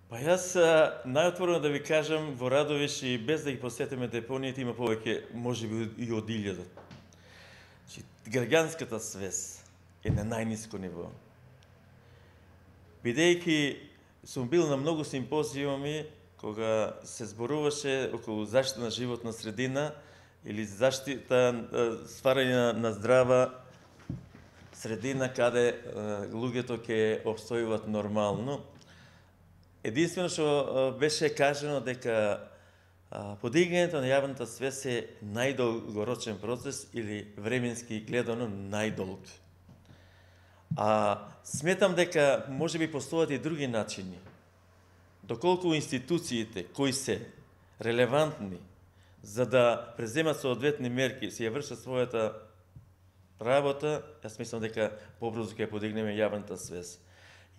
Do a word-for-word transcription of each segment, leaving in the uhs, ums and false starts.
Па јас најотворено да ви кажам, во Радовиш и без да ги посетиме депониите има повеќе, можеби и од илјада. Значи, граѓанската свест е на најниско ниво. Бидејќи сум бил на многу симпозиуми кога се зборуваше околу заштита на животна средина или заштита, стварање на, на здрава средина каде луѓето ќе обстојуваат нормално. Единствено што беше кажано дека подигањето на јавната свест е најдолгорочен процес или временски гледано најдолг. А сметам дека можеби постојат и други начини. Доколку институциите кои се релевантни за да преземат соодветни мерки, си ја вршат својата работа, јас мислам дека побрзо ќе подигнеме јавната свест.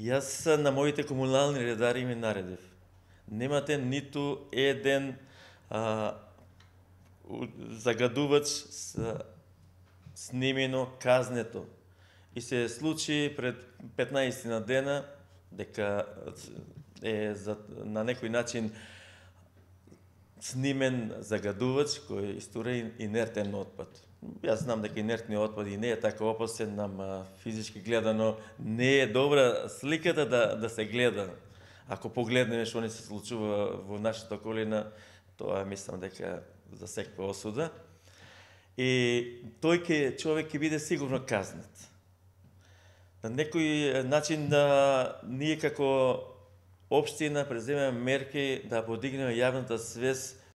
Јас на моите комунални редари ми наредив. Немате ниту еден а, загадувач с снимено казнето. И се случи пред петнаесет на дена дека е за, на некој начин снимен загадувач кој истура инертен отпад. Јас знам дека инертниот отпад и не е така опасен, ама физички гледано не е добра сликата да, да се гледа. Ако погледнеме што не се случува во нашата околина, тоа мислам дека за секоја осуда. И тој ке човек ќе биде сигурно казнет. На некој начин да ние како општина преземеме мерки да подигнеме јавната свест